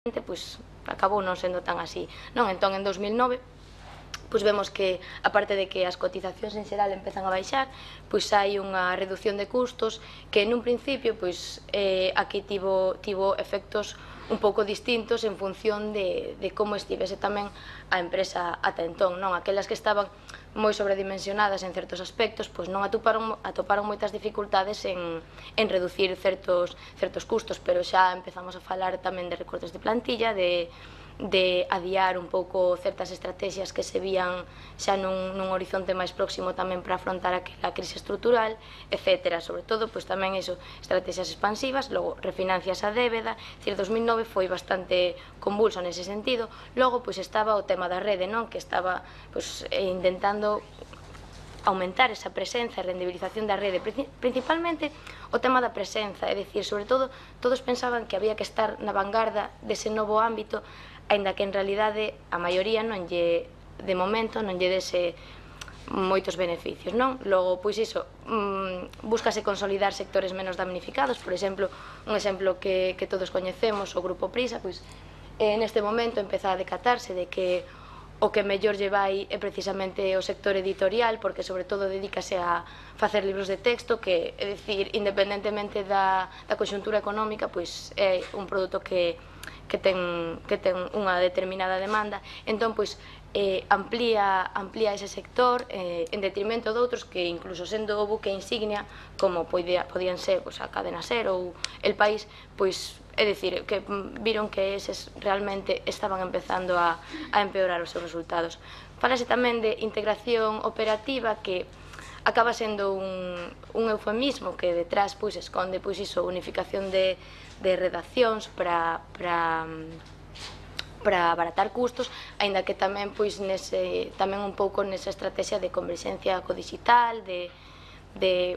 pois acabou non sendo tan así, non? Entón, en 2009, pois vemos que, aparte de que as cotizacións en xeral empezan a baixar, pois hai unha reducción de custos que nun principio, pois aquí tivo efectos un pouco distintos en función de como estivese tamén a empresa ata entón, non? Aquelas que estaban moi sobredimensionadas en certos aspectos, pois non atoparon moitas dificultades en reducir certos custos, pero xa empezamos a falar tamén de recortes de plantilla, de adiar un pouco certas estrategias que se vían xa nun horizonte máis próximo tamén para afrontar a crise estrutural, etc. Sobre todo, pois tamén iso, estrategias expansivas, logo refinancias a débeda, dicir, 2009 foi bastante convulso nese sentido. Logo, pois estaba o tema da rede, non? Que estaba pois intentando aumentar esa presenza e rendibilización da rede, principalmente o tema da presenza, é dicir, sobre todo, todos pensaban que había que estar na vanguarda dese novo ámbito, aínda que en realidade a maioría non lle, de momento, non lle dese moitos beneficios, non? Logo, pois iso, búscase consolidar sectores menos damnificados, por exemplo, un exemplo que todos coñecemos, o Grupo Prisa, pois neste momento empeza a decatarse de que o que mellor lle vai é precisamente o sector editorial, porque sobre todo dedícase a facer libros de texto, que, é dicir, independentemente da conxuntura económica, pois é un produto que ten unha determinada demanda. Entón, pois, amplía ese sector en detrimento de outros que, incluso sendo o buque insignia, como podían ser a Cadena SER ou El País, pois, é dicir, que viron que eses realmente estaban empezando a empeorar os seus resultados. Falase tamén de integración operativa, que acaba sendo un eufemismo que detrás esconde iso, unificación de redaccións para abaratar custos, aínda que tamén tamén un pouco nesa estrategia de converxencia co digital, de que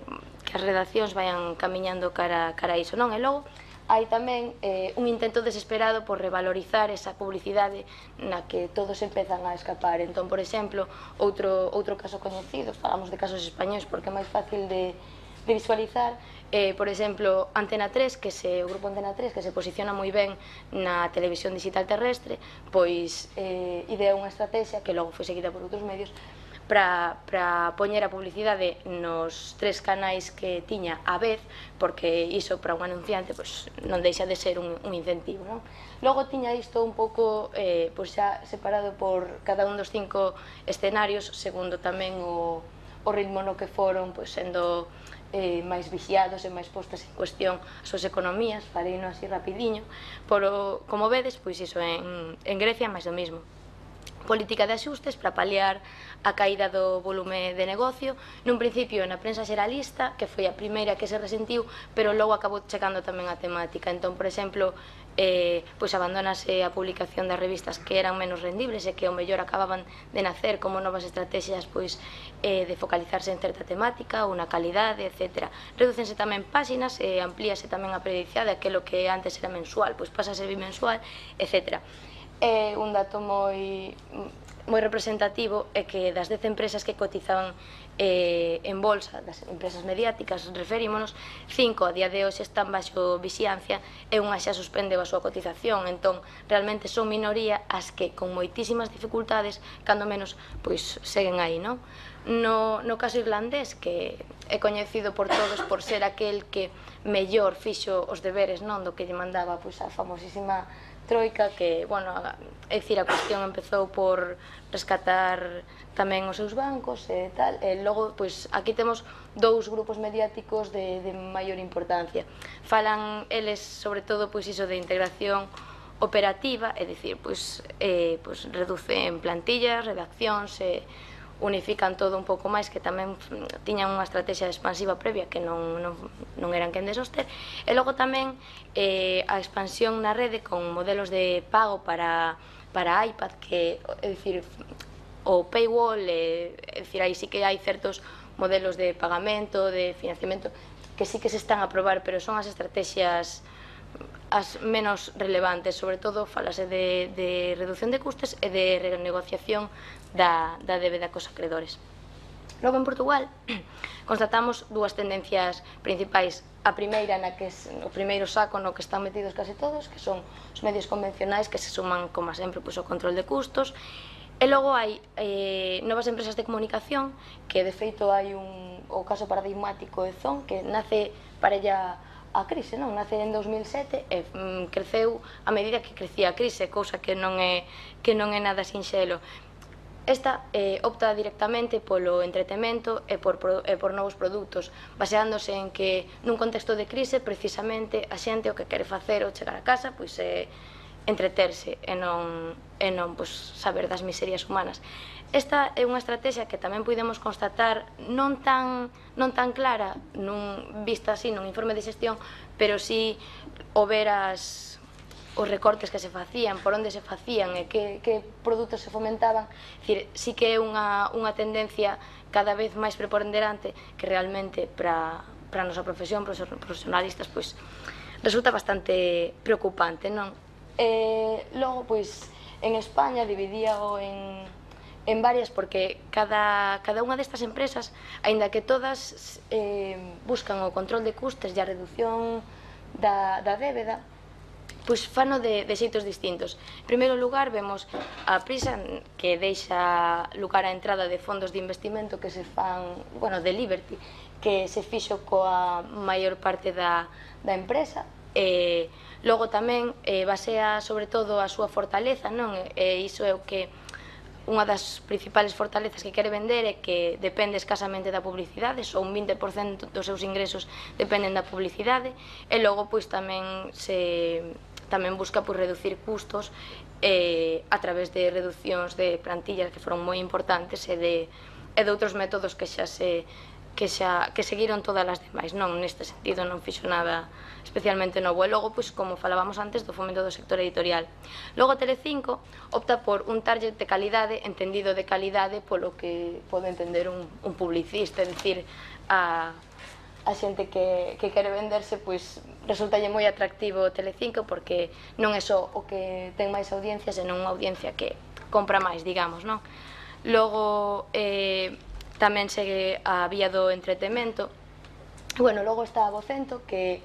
as redaccións vayan camiñando cara a iso, non? E logo hai tamén un intento desesperado por revalorizar esa publicidade na que todos empezan a escapar. Entón, por exemplo, outro caso coñecido, falamos de casos españois porque é máis fácil de visualizar, por exemplo, Antena 3, o grupo Antena 3, que se posiciona moi ben na televisión digital terrestre, pois idea unha estrategia que logo foi seguida por outros medios para poñer a publicidade nos 3 canais que tiña á vez, porque iso para un anunciante non deixa de ser un incentivo, non? Logo tiña isto un pouco xa separado por cada un dos 5 escenarios, segundo tamén o ritmo no que foron sendo máis vixiados e máis postas en cuestión as súas economías. Fareino así rapidiño, pero como vedes, pois iso, en Grecia máis do mismo. Política de axustes para paliar a caída do volume de negocio, nun principio na prensa xeralista, que foi a primeira que se resentiu, pero logo acabou chegando tamén a temática. Entón, por exemplo, abandonase a publicación das revistas que eran menos rendibles e que ao mellor acababan de nacer como novas estrategias de focalizarse en certa temática ou na calidade, etc. Redúcense tamén páxinas e amplíase tamén a periodicidade, aquilo que antes era mensual, pasa a ser bimensual, etc. Un dato moi representativo é que das 10 empresas que cotizaban en bolsa, das empresas mediáticas, referímonos, 5 a día de hoxe están baixo vixiancia e unha xa suspendeu a súa cotización. Entón, realmente son minoría as que, con moitísimas dificultades, cando menos, seguen aí, non? No caso irlandés, que é coñecido por todos por ser aquel que mellor fixo os deberes, non, do que lle mandaba a famosísima troika, que, bueno, é dicir, a cuestión empezou por rescatar tamén os seus bancos e tal, e logo, aquí temos 2 grupos mediáticos de maior importancia. Falan eles, sobre todo, iso de integración operativa, é dicir, reducen plantillas, redaccións, unifican todo un pouco máis, que tamén tiñan unha estrategia expansiva previa que non eran quen de soster. E logo tamén a expansión na rede con modelos de pago para iPad, que, é dicir, o paywall, é dicir, aí sí que hai certos modelos de pagamento, de financiamento, que sí que se están a probar, pero son as estrategias as menos relevantes. Sobre todo, falase de reducción de custes e de renegociación da débeda cos acredores. Logo, en Portugal, constatamos dúas tendencias principais. A primeira, o primeiro saco no que están metidos case todos, que son os medios convencionais, que se suman, como sempre, ao control de custos. E logo hai novas empresas de comunicación, que de feito hai o caso paradigmático de Zon, que nace parella a crise, non? Nace en 2007 e creceu a medida que crecía a crise, cousa que non é nada sinxelo. Esta opta directamente polo entretemento e por novos produtos, baseándose en que nun contexto de crise, precisamente, a xente o que quere facer ao chegar a casa pois é entreterse e non saber das miserias humanas. Esta é unha estrategia que tamén podemos constatar non tan clara vista así nun informe de xestión, pero sí o ver os recortes que se facían, por onde se facían e que produtos se fomentaban. Sí que é unha tendencia cada vez máis preponderante que realmente para a nosa profesión, para os profesionalistas, resulta bastante preocupante, non? Logo, en España dividíao en varias, porque cada unha destas empresas, aínda que todas buscan o control de custes e a reducción da débeda, fano de xeitos distintos. En primeiro lugar, vemos a Prisa, que deixa lugar á entrada de fondos de investimento que se fan, de Liberty, que se fixo coa maior parte da empresa. Logo tamén basea sobre todo a súa fortaleza, non? E iso é o que unha das principales fortalezas que quere vender é que depende escasamente da publicidade, só un 20% dos seus ingresos dependen da publicidade, e logo tamén busca reducir custos a través de reduccións de plantillas que foron moi importantes e de outros métodos que seguiron todas as demais, non? Neste sentido non fixo nada especialmente novo. E logo, como falábamos antes, do fomento do sector editorial. Logo, Telecinco opta por un target de calidade, entendido de calidade polo que pode entender un publicista, é dicir, a xente que quere venderse, resultalle moi atractivo Telecinco, porque non é só o que ten máis audiencias, senón unha audiencia que compra máis, digamos, non? Logo, tamén segue a vía do entretemento. Logo está a Vocento, que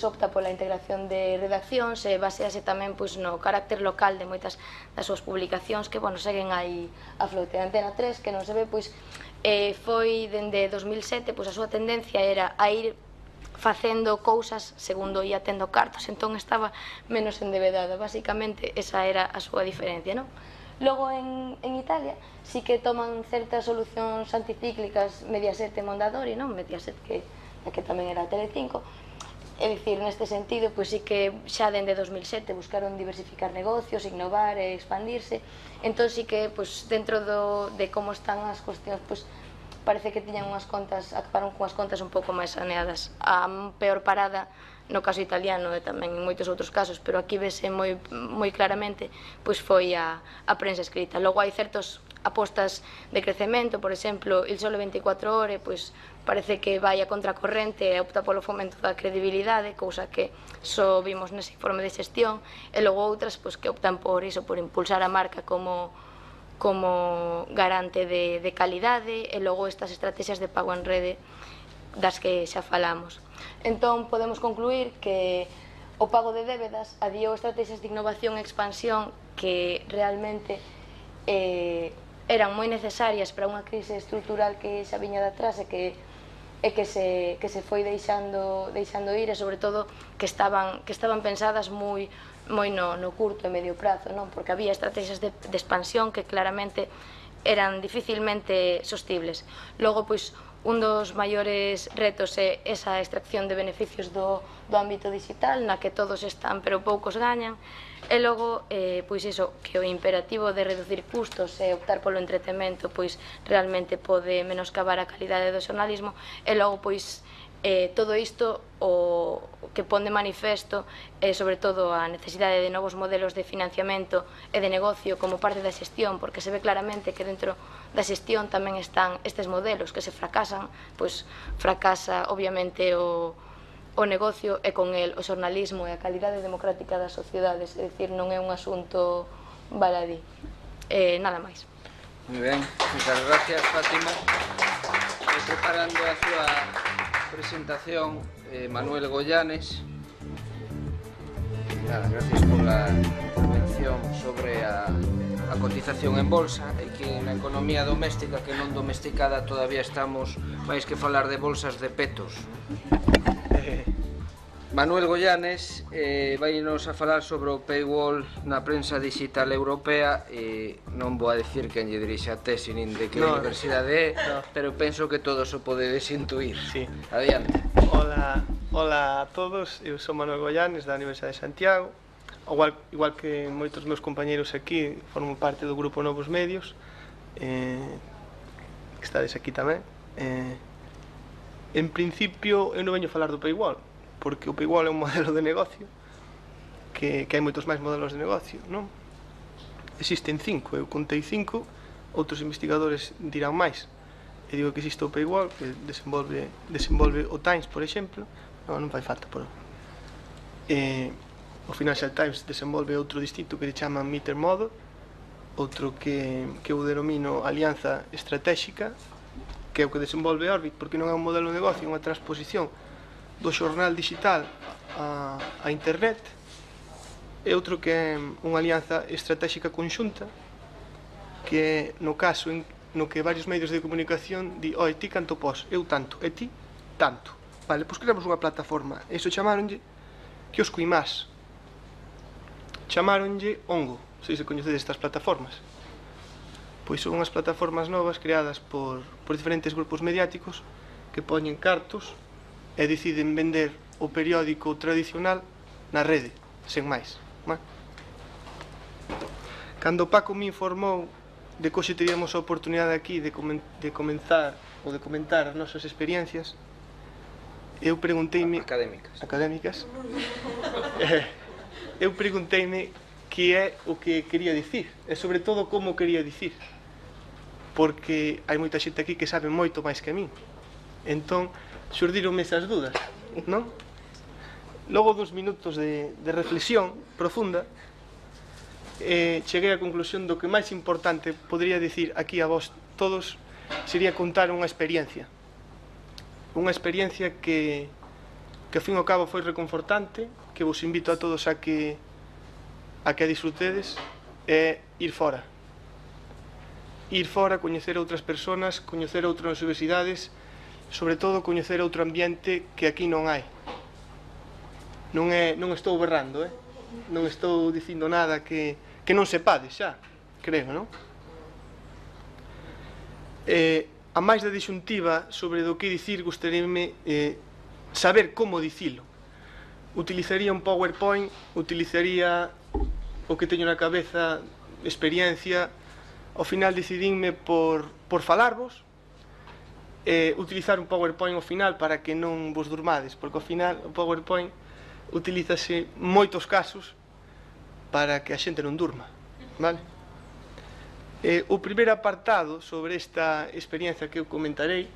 opta pola integración de redaccións e basease tamén no carácter local de moitas das súas publicacións que seguen aí a flote. A Antena 3, que non se ve, foi dende 2007, a súa tendencia era a ir facendo cousas segundo ia tendo cartos, entón estaba menos endevedada. Basicamente, esa era a súa diferencia, non? Logo, en Italia, sí que toman certas solucións anticíclicas Mediaset e Mondadori, non? Mediaset, que tamén era Telecinco. É dicir, neste sentido, sí que xa dende 2007 buscaron diversificar negocios, innovar e expandirse. Entón, sí que, dentro de como están as cuestións, parece que tiñan acabaron cunhas contas un pouco máis saneadas. A peor parada, no caso italiano e tamén en moitos outros casos, pero aquí vese moi claramente, foi a prensa escrita. Logo hai certos apostas de crecemento, por exemplo, Il Sole 24 Ore, parece que vai a contracorrente e opta polo fomento da credibilidade, cousa que só vimos nese informe de xestión, e logo outras que optan por impulsar a marca como garante de calidade, e logo estas estrategias de pago en rede das que xa falamos. Entón, podemos concluir que o pago de débedas adiou estrategias de innovación e expansión que realmente eran moi necesarias para unha crise estrutural que xa viña de atrás e que se foi deixando ir, e sobre todo que estaban pensadas moi no curto e medio prazo, non? Porque había estrategias de expansión que claramente eran dificilmente sostibles. Logo, un dos maiores retos é esa extracción de beneficios do ámbito digital, na que todos están pero poucos gañan, e logo, iso, que o imperativo de reducir custos e optar polo entretemento realmente pode menoscabar a calidade do xornalismo, e logo, todo isto o que pon de manifesto é sobre todo a necesidade de novos modelos de financiamento e de negocio como parte da xestión, porque se ve claramente que dentro da xestión tamén están estes modelos que se fracasan, fracasa obviamente o negocio e con el o xornalismo e a calidade democrática das sociedades, é dicir, non é un asunto baladí. Nada máis. Moi ben, moitas gracias, Fátima. Preparando a súa presentación, Manuel Goyanes. Nada, gracias pola intervención sobre a cotización en bolsa e que na economía doméstica que non domesticada todavía estamos máis que falar de bolsas de petos. Manuel Goyanes vai-nos a falar sobre o paywall na prensa digital europea e non vou a decir quen lle dirixe a tesi nin de que universidade é, pero penso que todos o podedes intuir. Adiante. Hola a todos, eu sou Manuel Goyanes da Universidade de Santiago. Igual que moitos meus compañeiros aquí, formo parte do grupo Novos Medios, que estades aquí tamén. En principio, eu non veño a falar do paywall, porque o paywall é un modelo de negocio que hai moitos máis modelos de negocio, non? Existen 5, eu contei 5, outros investigadores dirán máis. E digo que existe o paywall, que desenvolve o Times, por exemplo. Non fai falta, por o Financial Times desenvolve outro distinto que se chama Meter Model, outro que eu denomino Alianza Estratégica, que é o que desenvolve Orbit, porque non é un modelo de negocio, é unha transposición do xornal digital a internet, e outro que é unha alianza estratégica conxunta, que no caso no que varios medios de comunicación di, oi, ti canto pos, eu tanto, e ti tanto. Vale, pois creamos unha plataforma, e iso chamaronlle Kiosco Imás, chamaronlle Ongo, se coñecedes estas plataformas. Pois son unhas plataformas novas creadas por diferentes grupos mediáticos que poñen cartos e deciden vender o periódico tradicional na rede, sen máis. Cando Paco me informou de que hoxe teríamos a oportunidade aquí de comenzar ou de comentar as nosas experiencias, eu pregunteime... Académicas. Eu pregunteime que é o que quería dicir, e sobre todo como quería dicir, porque hai moita xente aquí que sabe moito máis que a min. Entón, xurdironme esas dudas, non? Logo dos minutos de reflexión profunda, cheguei á conclusión do que máis importante podría dicir aquí a vos todos sería contar unha experiencia que ao fin e ao cabo foi reconfortante, que vos invito a todos a que a disfrutedes, é ir fora, coñecer outras persoas, coñecer outras universidades, sobre todo coñecer outro ambiente que aquí non hai. Non estou berrando, non estou dicindo nada que non sepades xa, creo, non? A máis da disyuntiva sobre do que dicir, gustaríame saber como dicilo. Utilizaría un PowerPoint, utilizaría o que teño na cabeza, experiencia. Ao final decidínme por falarvos, utilizar un PowerPoint ao final para que non vos durmades, porque ao final o PowerPoint utilízase moitos casos para que a xente non durma, vale? O primeiro apartado sobre esta experiencia que eu comentarei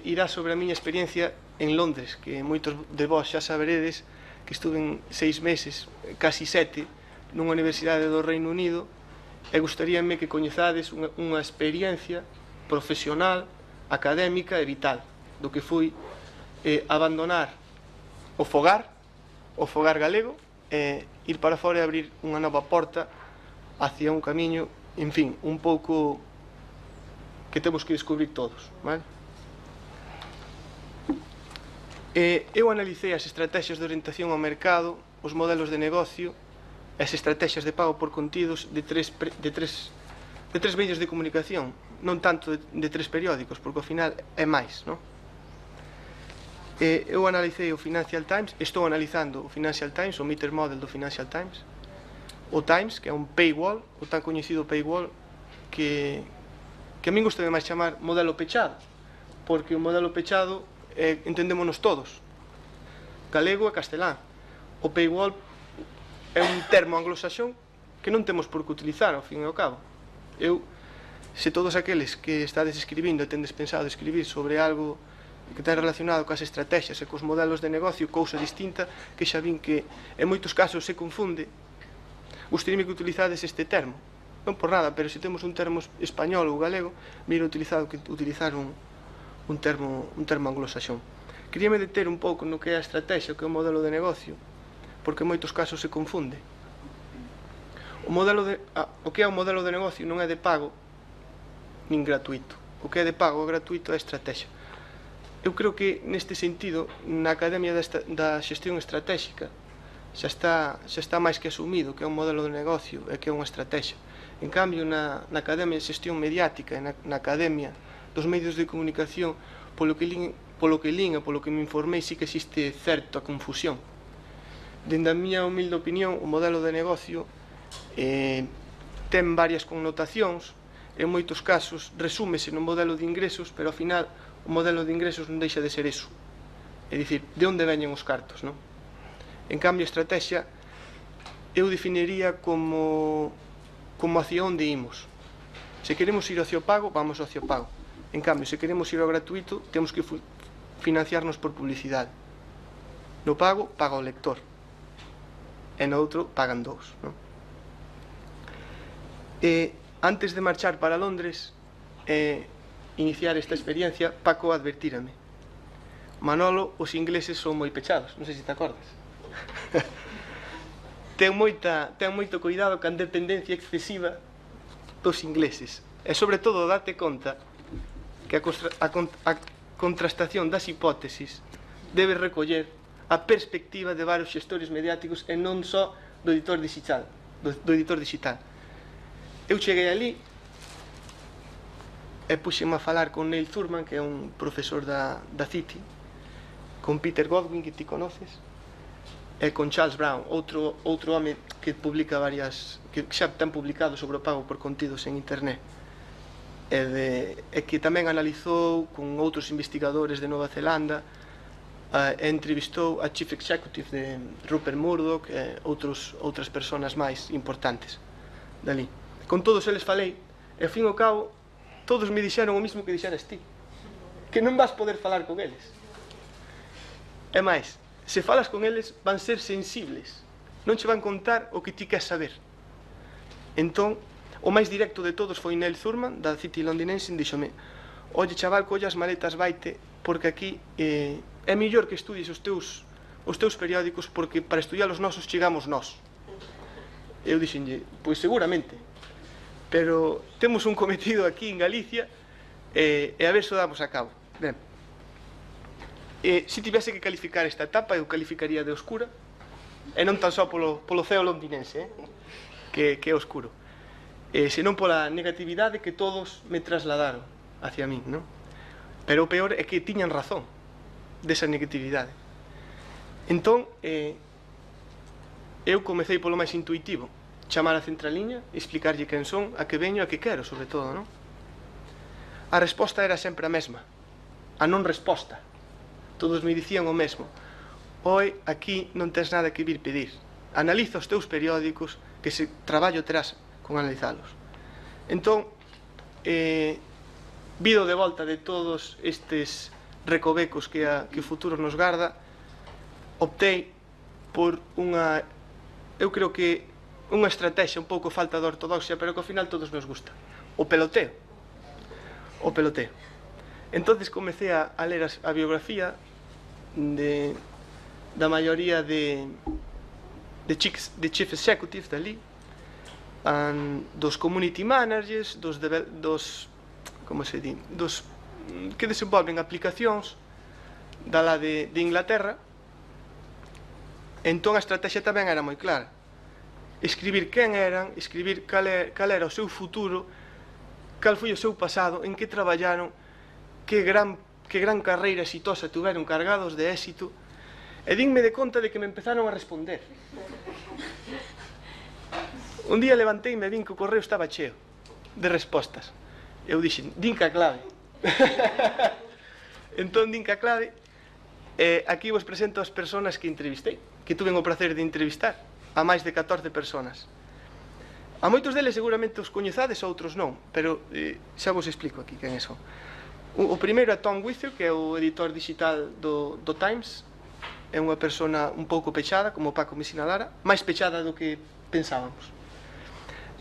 irá sobre a miña experiencia en Londres, que moitos de vós xa saberedes que estuve 6 meses, casi 7, nunha universidade do Reino Unido, e gustaríame que coñezades unha experiencia profesional, académica e vital, do que foi abandonar o fogar galego, e ir para fora e abrir unha nova porta hacia un camiño, en fin, un pouco que temos que descubrir todos, vale? Eu analicei as estrategias de orientación ao mercado, os modelos de negocio, as estrategias de pago por contidos de tres medios de comunicación, non tanto de 3 periódicos, porque ao final é máis, non? Eu analicei o Financial Times, estou analizando o Financial Times, o meter model do Financial Times, o Times, que é un paywall, o tan coñecido paywall, que a min gusta máis chamar modelo pechado, porque o modelo pechado entendémonos todos, galego e castelán. O paywall é un termo anglosaxón que non temos por que utilizar, ao fin e ao cabo. Se todos aqueles que estades escribindo e tendes pensado escribir sobre algo que ten relacionado coas estrategias e cos modelos de negocio, cousa distinta, que xa vin que en moitos casos se confunde, gustaríame que utilizades este termo, non por nada, pero se temos un termo español ou galego, mira utilizar un termo anglosaxón. Queríame deter un pouco no que é a estrategia, o que é o modelo de negocio, porque en moitos casos se confunde. O que é o modelo de negocio non é de pago nin gratuito. O que é de pago ou gratuito é a estrategia. Eu creo que neste sentido, na Academia da Xestión Estratégica xa está máis que asumido que é un modelo de negocio e que é unha estrategia. En cambio, na Academia de Xestión Mediática e na Academia dos Medios de Comunicación, polo que lin e polo que me informei, sí que existe certa confusión. Dende a miña humilde opinión, o modelo de negocio ten varias connotacións, en moitos casos resúmese no modelo de ingresos, pero ao final o modelo de ingresos non deixa de ser eso, é dicir, de onde veñen os cartos, non? En cambio, a estrategia eu definiría como hacia onde imos. Se queremos ir hacia o pago, vamos hacia o pago. En cambio, se queremos ir ao gratuito, temos que financiarnos por publicidade. No pago, paga o lector, e no outro pagan dous, non? Antes de marchar para Londres iniciar esta experiencia, Paco advertírame: Manolo, os ingleses son moi pechados, non sei se te acordas. ten moito cuidado ca dependencia excesiva dos ingleses, e sobre todo date conta que a contrastación das hipótesis debe recoller a perspectiva de varios xestores mediáticos e non só do editor digital. Eu cheguei ali e puxeme a falar con Neil Thurman, que é un profesor da City, con Peter Godwin, que ti conoces, e con Charles Brown, outro home que publica que xa ten publicado sobre o pago por contidos en internet, e que tamén analizou con outros investigadores de Nova Zelanda, e entrevistou a Chief Executive de Rupert Murdoch e outras persoas máis importantes dali. Con todos eles falei, e ao fin e ao cabo todos me dixeron o mismo que dixeras ti, que non vas poder falar con eles. E máis, se falas con eles van ser sensibles, non che van contar o que ti queres saber. Entón, o máis directo de todos foi Neil Thurman, da City londinense, e díxome: oye chaval, colle as maletas, vaite, porque aquí é mellor que estudies os teus periódicos, porque para estudiar os nosos chegamos nós. Eu dixenlle: pois seguramente, pero temos un cometido aquí en Galicia e a ver se o damos a cabo. Ben, se tivese que calificar esta etapa, eu calificaría de oscura, e non tan só polo ceo londinense, que é oscuro, senón pola negatividade que todos me trasladaron hacia min, non? Pero o peor é que tiñan razón desa negatividade. Entón, eu comecei polo máis intuitivo, chamar a centraliña, explicarlle quen son, a que veño, a que quero, sobre todo, non? A resposta era sempre a mesma, a non resposta. Todos me dicían o mesmo: oi, aquí non tens nada que vir pedir, analiza os teus periódicos, que se traballo terás con analizalos. Entón, vido de volta de todos estes recovecos que o futuro nos garda, optei por unha, eu creo que unha estrategia un pouco falta de ortodoxia, pero que ao final todos nos gusta: o peloteo. Entonces comecei a ler a biografía da maioría de chief executives dali, dos community managers, dos que desenvolven aplicacións da lá de Inglaterra. Entón a estrategia tamén era moi clara: escribir quen eran, escribir cal era o seu futuro, cal foi o seu pasado, en que traballaron, que gran carreira exitosa tiveron, cargados de éxito. E dinme de conta de que me empezaron a responder. Un día levanteime e vin que o correo estaba cheo de respostas. Eu dixen: din que a clave. Entón din que a clave. Aquí vos presento as persoas que entrevistei, que tuven o placer de entrevistar, a máis de 14 persoas. A moitos deles seguramente os coñezades, outros non, pero xa vos explico aquí quen son. O primeiro é Tom Withers, que é o editor digital do Times. É unha persona un pouco pechada, como Paco me sinalara, máis pechada do que pensábamos.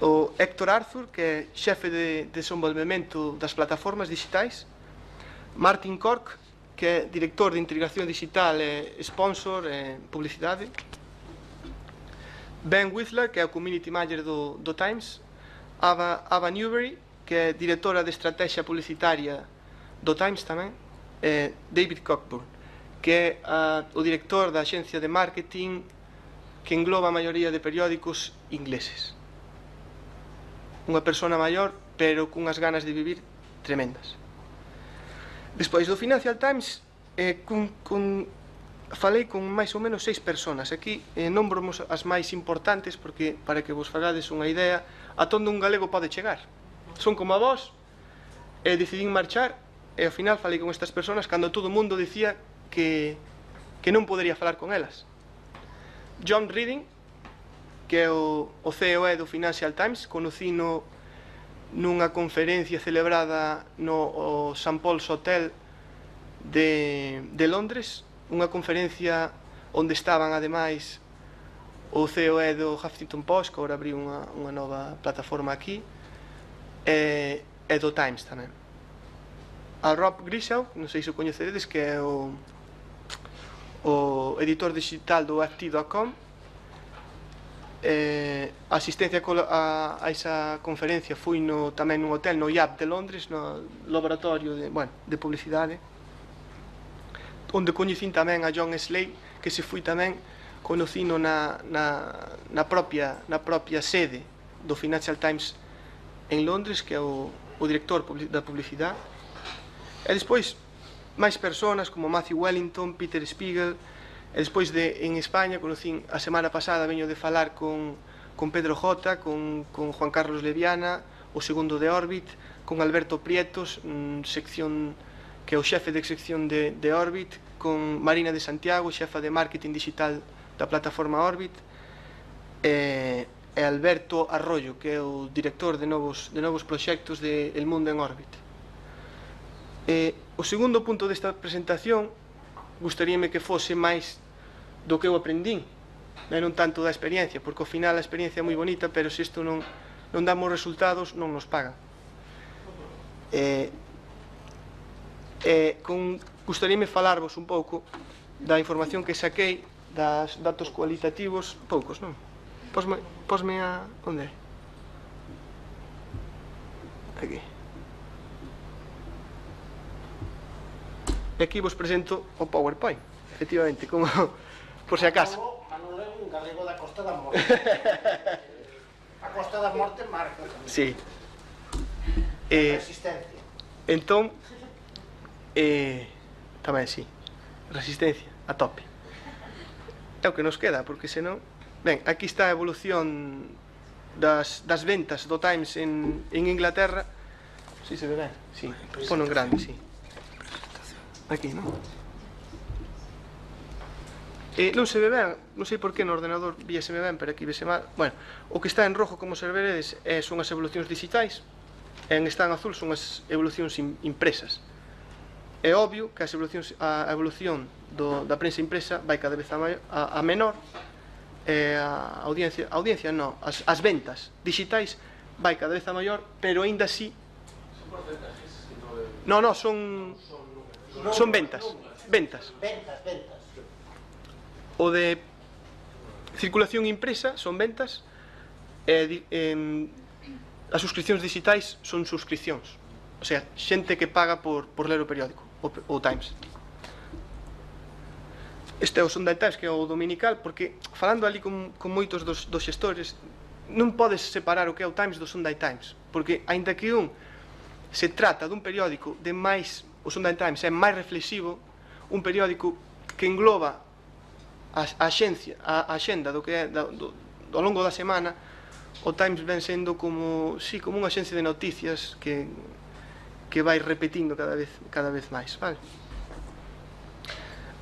o Héctor Arthur, que é xefe de desenvolvemento das plataformas digitais, Martin Cork, que é director de integración digital e sponsor e publicidade, Ben Whistler, que é o community manager do Times, Ava Newberry, que é directora de estrategia publicitaria do Times tamén, e David Cockburn, que é o director da axencia de marketing que engloba a maioría de periódicos ingleses. Unha persona maior, pero cunhas ganas de vivir tremendas. Despois do Financial Times, falei con máis ou menos 6 personas. Aquí nombramos as máis importantes porque, para que vos fagades unha idea, a onde un galego pode chegar. Son como a vos, e decidín marchar, e ao final falei con estas personas cando todo o mundo dicía que non podería falar con elas. John Reading, que é o COE do Financial Times, conocino nunha conferencia celebrada no St. Paul's Hotel de Londres, unha conferencia onde estaban ademais o COE do Huffington Post, que agora abriu unha nova plataforma aquí, e do Times tamén. A Rob Grishaw, non sei se o coñeceredes, que é o editor digital do FT.com. A asistencia a esa conferencia foi tamén nun hotel no IAB de Londres, no laboratorio de publicidade, onde coñecín tamén a John Slade, que se foi tamén conocino na propia sede do Financial Times en Londres, que é o director da publicidade. E despois máis personas como Matthew Wellington, Peter Spiegel. E despois en España conocín a semana pasada, veño de falar con Pedro Jota, con Juan Carlos Leviana, o segundo de Orbit, con Alberto Prietos, que é o xefe de sección de Orbit, con Marina de Santiago, xefa de marketing digital da plataforma Orbit, e Alberto Arroyo, que é o director de novos proxectos de El Mundo en Orbit. O segundo punto desta presentación gustaríame que fose máis do que eu aprendín, non tanto da experiencia, porque ao final a experiencia é moi bonita, pero se isto non damos resultados, non nos pagan. Gustaríame falarvos un pouco da información que saquei das datos cualitativos, poucos, non? Posme a... onde é? Aquí. E aquí vos presento o PowerPoint, efectivamente, como por se acaso. Manolo é un galego da Costa da Morte. A Costa da Morte marca. Sí. Resistencia. Entón, tamén sí, resistencia, a tope. É o que nos queda, porque senón... Ben, aquí está a evolución das ventas do Times en Inglaterra. Si se ve ben? Sí, pono en grande, sí. Aquí, non? Non se ve ben, non sei por que no ordenador víaseme ben, pero aquí vese mal. Bueno, o que está en rojo, como se veredes, son as evolucións digitais, e en está en azul son as evolucións impresas. É obvio que a evolución da prensa impresa vai cada vez a menor, e a audiencia non, as ventas digitais vai cada vez a maior, pero aínda así... Son porcentajes? Non, son ventas. Ventas. O de circulación impresa son ventas, e as suscripcións digitais son suscripcións, o sea, xente que paga por ler o periódico, o Times. Este é o Sunday Times, que é o dominical, porque falando ali con moitos dos xestores, non podes separar o que é o Times do Sunday Times, porque aínda que se trata dun periódico de máis, o Sunday Times é máis reflexivo, un periódico que engloba a axenda do que é ao longo da semana. O Times ven sendo como unha axencia de noticias que vai repetindo cada vez máis, vale?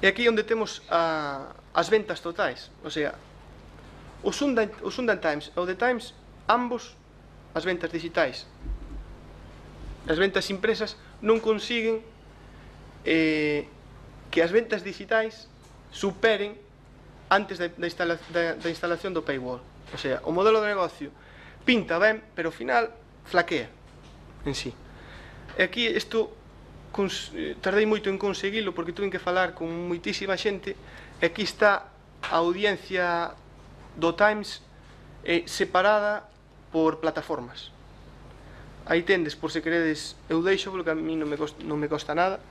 E aquí onde temos as ventas totais, o sea, o Sunday Times e o The Times, ambos as ventas digitais, as ventas impresas non consiguen que as ventas digitais superen antes da instalación do paywall. O sea, o modelo de negocio pinta ben, pero ao final flaquea en sí. E aquí isto tardei moito en conseguilo porque tuve que falar con moitísima xente, e aquí está a audiencia do Times separada por plataformas. Aí tendes, por se queredes, eu deixo porque a mí non me costa nada.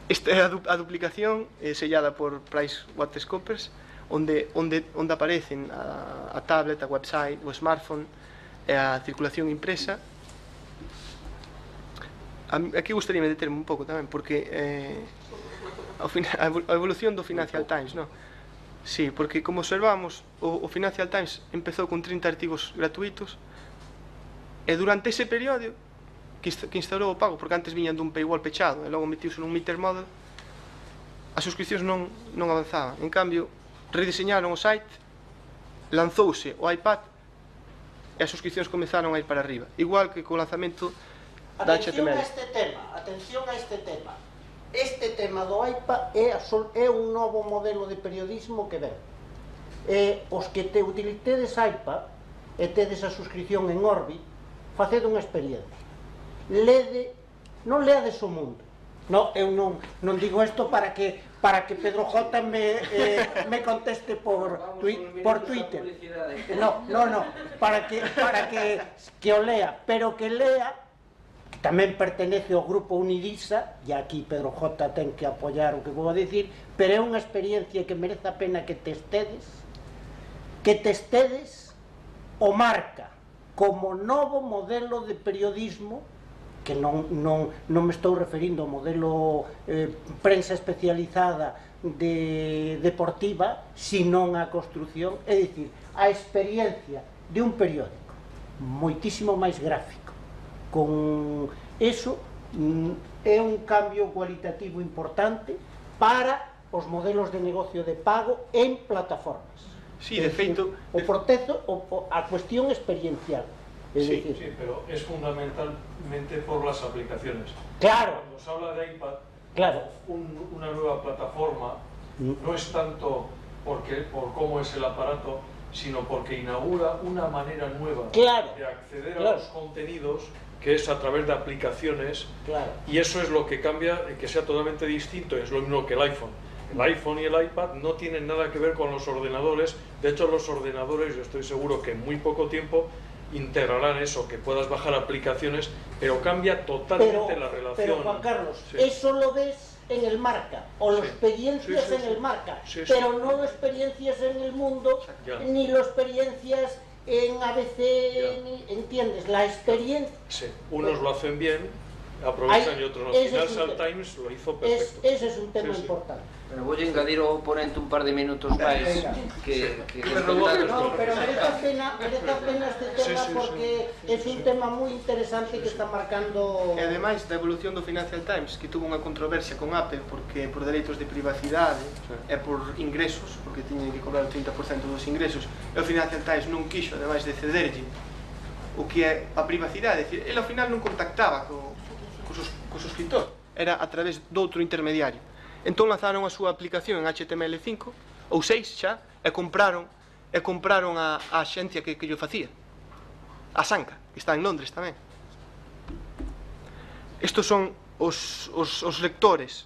Esta é a duplicación sellada por PricewaterhouseCoopers, onde aparecen a tablet, a website, o smartphone e a circulación impresa. Aquí gustaríame determe un pouco tamén, porque a evolución do Financial Times, non? Sí, porque como observamos, o Financial Times empezou con 30 artigos gratuitos, e durante ese período que instaurou o pago, porque antes viñan dun paywall pechado e logo metiuse nun meter model, as suscripcións non avanzaban. En cambio, rediseñaron o site, lanzouse o iPad e as suscripcións comezaron a ir para arriba, igual que co lanzamento da HTML. Atención a este tema. Este tema do iPad é un novo modelo de periodismo que ven. Os que utilitedes iPad e tedes a suscripción en Orbit, faced unha experiencia. Non leades o mundo. Eu non digo isto para que Pedro J me conteste por Twitter. No, para que o lea, pero que lea. Tamén pertenece ao grupo Unidisa, e aquí Pedro J ten que apoiar o que vou a dicir, pero é unha experiencia que merece a pena que testedes o Marca como novo modelo de periodismo, que non me estou referindo ao modelo prensa especializada deportiva, senón a construción, é dicir, a experiencia de un periódico moitísimo máis gráfico. Con eso é un cambio cualitativo importante para os modelos de negocio de pago en plataformas. Sí, de feito, o proceso, a cuestión experiencial. Sí, pero es fundamentalmente por las aplicaciones. Claro. Cuando se habla de iPad, claro, una nueva plataforma no es tanto por cómo es el aparato, sino porque inaugura una manera nueva de acceder a los contenidos, que es a través de aplicaciones, y eso es lo que cambia, que sea totalmente distinto. Es lo mismo que el iPhone. El iPhone y el iPad no tienen nada que ver con los ordenadores. De hecho, los ordenadores, yo estoy seguro que en muy poco tiempo integrarán eso, que puedas bajar aplicaciones, pero cambia totalmente la relación. Pero Juan Carlos, eso lo ves en el Marca, o las experiencias en el Marca, pero no las experiencias en el mundo, ni las experiencias en ABC, ¿entiendes? La experiencia... Sí, unos lo hacen bien, aprovechan y otros no. Financial Times lo hizo perfecto. Ese es un tema importante. Pero voy a engadir ao oponente un par de minutos máis que no, pero merece a pena este tema porque es un tema moi interesante que está marcando... E ademais da evolución do Financial Times, que tuvo unha controversia con Apple porque por dereitos de privacidade e por ingresos, porque tiñen que cobrar o 30% dos ingresos, e o Financial Times non quixo, ademais de cederlle o que é a privacidade, decir, ele ao final non contactaba co suscriptor, era a través doutro intermediario. Entón lanzaron a súa aplicación en HTML5 ou 6 xa, e compraron a axencia que llo facía, a Sanka, que está en Londres tamén. Estos son os lectores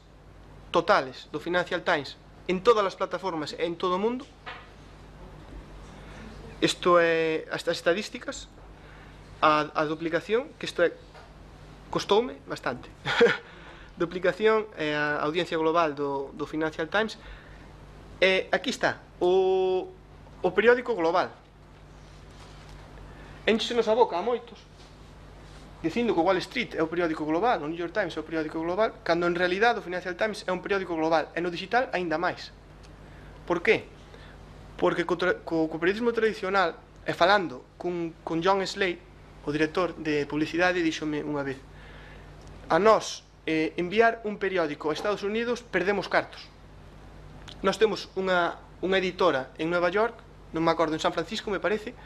totales do Financial Times en todas as plataformas e en todo o mundo. Isto é as estadísticas, a duplicación, que isto costoume bastante. Duplicación e a audiencia global do Financial Times. Aquí está o periódico global. Enchenos a boca a moitos dicindo que o Wall Street é o periódico global, o New York Times é o periódico global, cando en realidad o Financial Times é un periódico global, e no digital aínda máis. Por qué? Porque co periodismo tradicional, e falando con John Slade, o director de publicidade, díxome unha vez: a nós enviar un periódico a Estados Unidos perdemos cartos. Nós temos unha editora en Nueva York, non me acordo, en San Francisco me parece,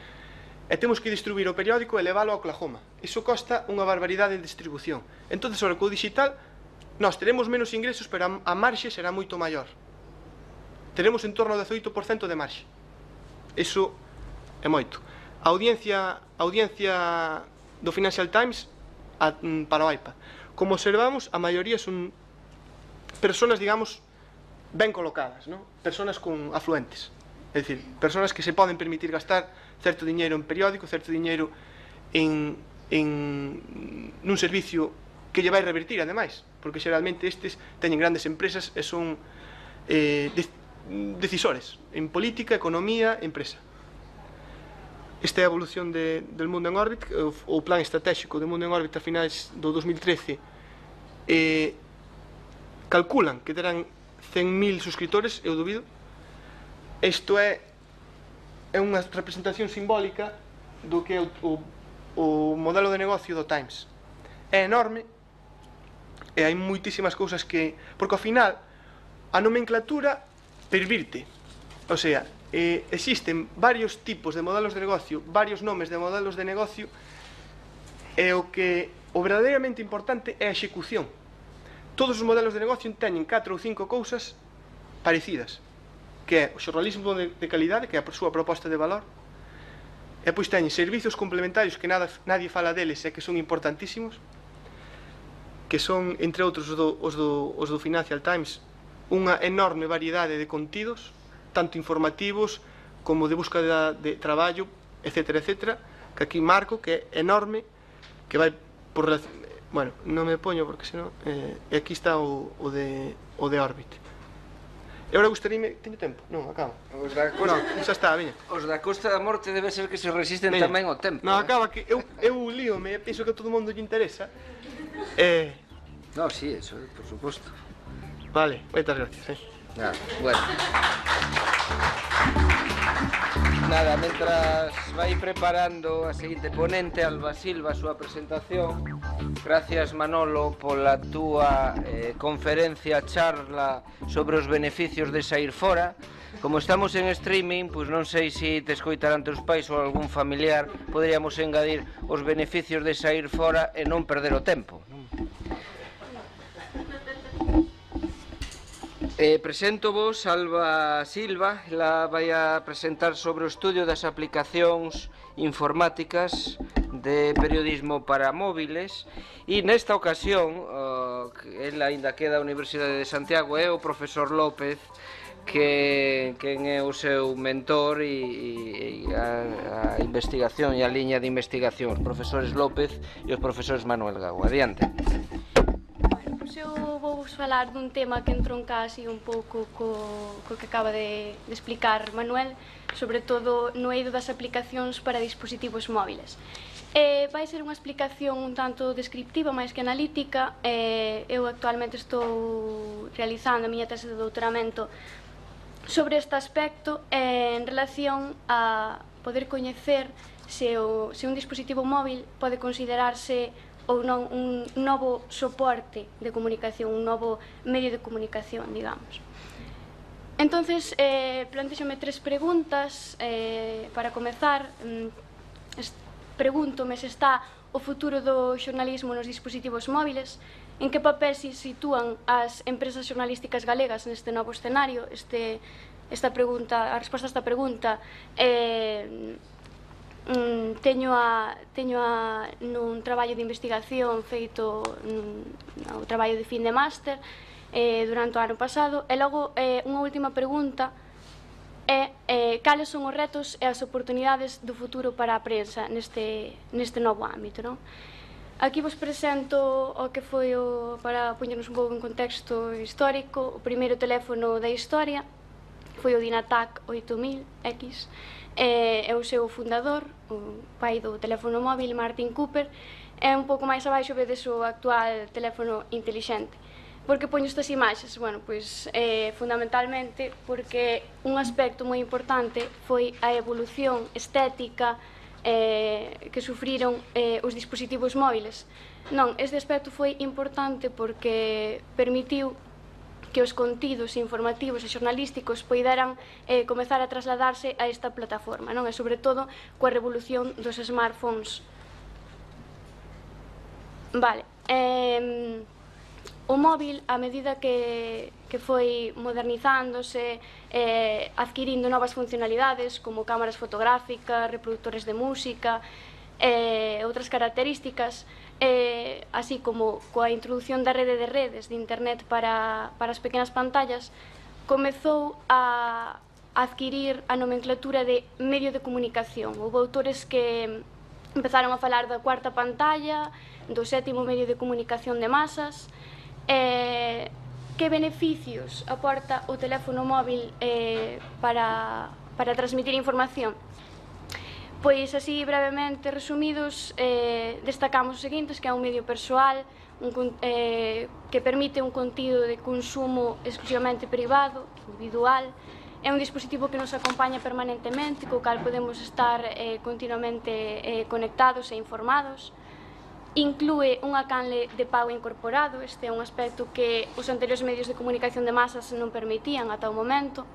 e temos que distribuir o periódico e leválo a Oklahoma. Iso costa unha barbaridade en distribución. Entón, sobre o digital, nós teremos menos ingresos, pero a marxe será moito maior. Teremos en torno ao 18% de marxe. Iso é moito. A audiencia do Financial Times para o iPad. Como observamos, a maioría son personas, digamos, ben colocadas, non? Personas con afluentes. É dicir, personas que se poden permitir gastar certo diñeiro en periódico, certo diñeiro nun servicio que lle vai revertir, ademais, porque xeralmente estes teñen grandes empresas e son decisores en política, economía, empresa. Esta é a evolución del Mundo en Órbita, o plan estratégico do Mundo en Órbita a finais do 2013. Calculan que terán 100.000 suscriptores, eu dubido. Isto é unha representación simbólica do que é o modelo de negocio do Times. É enorme e hai moitísimas cousas que... Porque ao final a nomenclatura pervirte. O sea, existen varios tipos de modelos de negocio, varios nomes de modelos de negocio, e o verdadeiramente importante é a execución. Todos os modelos de negocio teñen 4 ou 5 cousas parecidas, que é o xornalismo de calidade, que é a súa proposta de valor, e pois teñen servicios complementarios que nadie fala deles e que son importantísimos, que son, entre outros, os do Financial Times, unha enorme variedade de contidos, tanto informativos como de búsqueda de traballo, etcétera, etcétera, que aquí marco, que é enorme, que vai por... Bueno, non me poño porque senón... E aquí está o de Orbit. E agora gustaríame... Teño tempo? Non, acaba. Os da Costa... Non, xa está, veña. Os da Costa da Morte debe ser que se resisten tamén ao tempo. Non, acaba, que eu líome, penso que a todo mundo lle interesa. No, sí, eso, por suposto. Vale, moitas gracias, Bueno. Nada, mentras vai preparando a seguinte ponente, Alba Silva, a súa presentación. Gracias, Manolo, pola túa conferencia, charla sobre os beneficios de sair fora. Como estamos en streaming, pois non sei se te escoitarán teus pais ou algún familiar, poderíamos engadir os beneficios de sair fora e non perder o tempo. Presento vos Alba Silva, ela vai a presentar sobre o estudio das aplicacións informáticas de periodismo para móviles, e nesta ocasión, ela aínda queda da Universidade de Santiago, é o profesor López quen é o seu mentor e a investigación e a liña de investigación, os profesores López e os profesores Manuel Gago. Adiante. Eu vou vos falar dun tema que entronca así un pouco co que acaba de explicar Manuel, sobre todo no eido das aplicacións para dispositivos móviles. Vai ser unha explicación un tanto descriptiva máis que analítica. Eu actualmente estou realizando a miña tese de doutoramento sobre este aspecto en relación a poder coñecer se un dispositivo móvil pode considerarse ou non un novo soporte de comunicación, un novo medio de comunicación, digamos. Entonces, plantexome 3 preguntas para comezar. Pregúntome se está o futuro do xornalismo nos dispositivos móviles, en que papel se sitúan as empresas xornalísticas galegas neste novo escenario. A resposta a esta pregunta teño nun traballo de investigación feito no traballo de fin de máster durante o ano pasado. E logo unha última pregunta é cales son os retos e as oportunidades do futuro para a prensa neste novo ámbito, non? Aquí vos presento o que foi, para poñernos un pouco en contexto histórico, o primeiro teléfono da historia foi o Dynatac 8000X. É o seu fundador, o pai do teléfono móvil, Martin Cooper. É un pouco máis abaixo vedes o actual teléfono intelixente. Por que poño estas imaxes? Bueno, pois fundamentalmente porque un aspecto moi importante foi a evolución estética que sufriron os dispositivos móviles. Non, este aspecto foi importante porque permitiu que os contidos informativos e xornalísticos poideran comezar a trasladarse a esta plataforma, non? E sobre todo coa revolución dos smartphones. Vale. O móvil, a medida que foi modernizándose, adquirindo novas funcionalidades como cámaras fotográficas, reproductores de música, outras características, así como coa introdución da rede de redes de internet para as pequenas pantallas, comezou a adquirir a nomenclatura de medio de comunicación. Houve autores que empezaron a falar da cuarta pantalla, do sétimo medio de comunicación de masas. Que beneficios aporta o teléfono móvil para transmitir información? Pois así brevemente resumidos, destacamos os seguintes, que é un medio persoal, que permite un contido de consumo exclusivamente privado, individual, é un dispositivo que nos acompaña permanentemente, co cal podemos estar continuamente conectados e informados. Inclúe unha canle de pago incorporado, este é un aspecto que os anteriores medios de comunicación de masas non permitían ata o momento.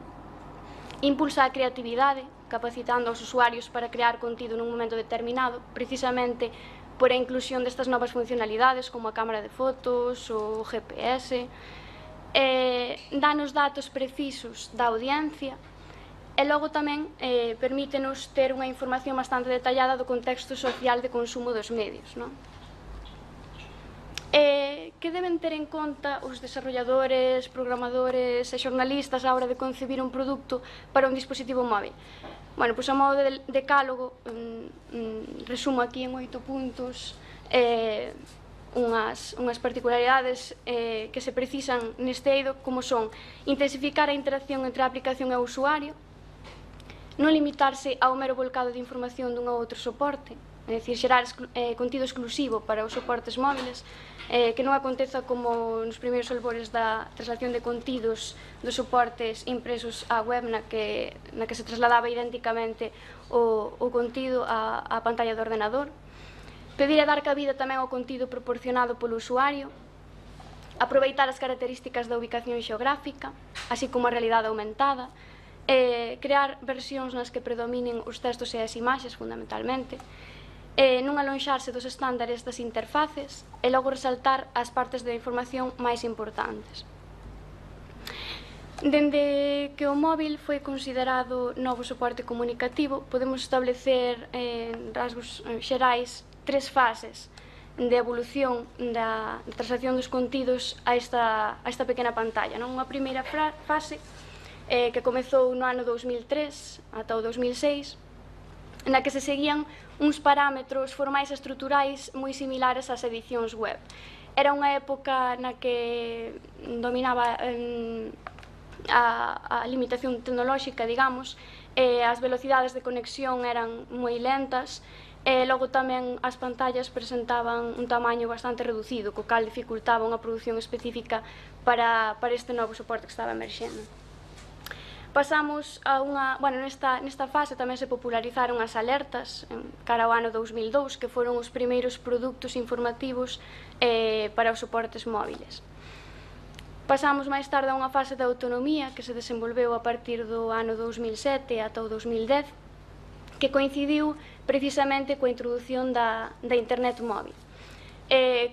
Impulsa a creatividade, capacitando aos usuarios para crear contido nun momento determinado, precisamente por a inclusión destas novas funcionalidades como a cámara de fotos, o GPS, danos datos precisos da audiencia, e logo tamén permítenos ter unha información bastante detallada do contexto social de consumo dos medios, non? Que deben ter en conta os desarrolladores, programadores e xornalistas á hora de concebir un produto para un dispositivo móvil? Bueno, pois a modo de decálogo, resumo aquí en 8 puntos unhas particularidades que se precisan neste eido, como son intensificar a interacción entre a aplicación e o usuario, non limitarse ao mero volcado de información dun ou outro soporte, é dicir, xerar contido exclusivo para os soportes móviles, que non aconteza como nos primeiros albores da traslación de contidos dos soportes impresos á web na que se trasladaba idénticamente o contido á pantalla do ordenador. Pedir e dar cabida tamén ao contido proporcionado polo usuario, aproveitar as características da ubicación xeográfica, así como a realidade aumentada, crear versións nas que predominen os textos e as imaxes fundamentalmente, non alonxarse dos estándares das interfaces e logo resaltar as partes da información máis importantes. Dende que o móvil foi considerado novo soporte comunicativo, podemos establecer en rasgos xerais 3 fases de evolución da traslación dos contidos a esta pequena pantalla. Unha primeira fase que comezou no ano 2003 ata o 2006, na que se seguían uns parámetros formais e estruturais moi similares ás edicións web. Era unha época na que dominaba a limitación tecnolóxica, digamos, as velocidades de conexión eran moi lentas, e logo tamén as pantallas presentaban un tamaño bastante reducido, co cal dificultaba unha produción específica para este novo soporte que estaba emerxendo. Pasamos a nesta fase tamén se popularizaron as alertas cara ao ano 2002, que foron os primeiros produtos informativos para os soportes móviles. Pasamos máis tarde a unha fase de autonomía que se desenvolveu a partir do ano 2007 ata o 2010, que coincidiu precisamente coa introdución da internet móvil.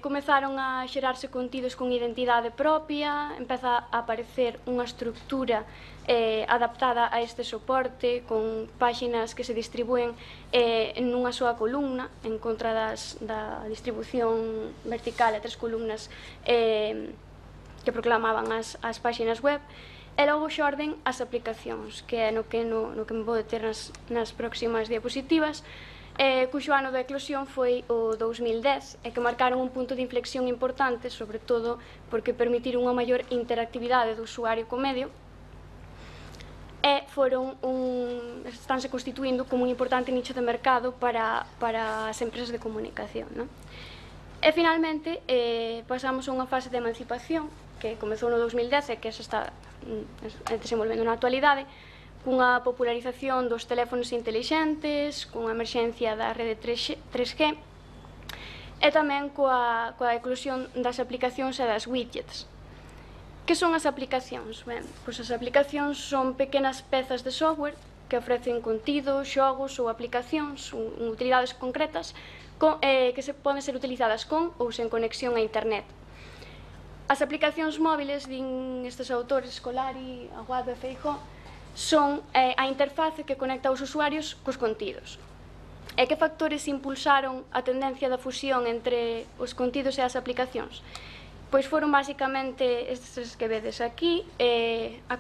Comezaron a xerarse contidos con identidade propia, empeza a aparecer unha estructura adaptada a este soporte, con páxinas que se distribúen nunha soa columna, en contra da distribución vertical a 3 columnas que proclamaban as páxinas web, e logo xorden as aplicacións, que é no que me vou deter nas próximas diapositivas, cuxo ano de eclosión foi o 2010 e que marcaron un punto de inflexión importante, sobre todo porque permitiron unha maior interactividade do usuario co medio e estánse constituindo como un importante nicho de mercado para as empresas de comunicación. E finalmente pasamos a unha fase de emancipación que comezou no 2010 e que se está desenvolvendo na actualidade, cunha popularización dos teléfonos intelixentes, cunha emerxencia da rede 3G e tamén coa eclosión das aplicacións e das widgets. Que son as aplicacións? Ben, pois as aplicacións son pequenas pezas de software que ofrecen contido, xogos ou aplicacións, utilidades concretas que poden ser utilizadas con ou sen conexión a internet. As aplicacións móviles, din estes autores, Scolari, Aguado e Feijóo, son a interface que conecta os usuarios cos contidos. E que factores impulsaron a tendencia da fusión entre os contidos e as aplicacións? Pois foron basicamente estes que vedes aquí, a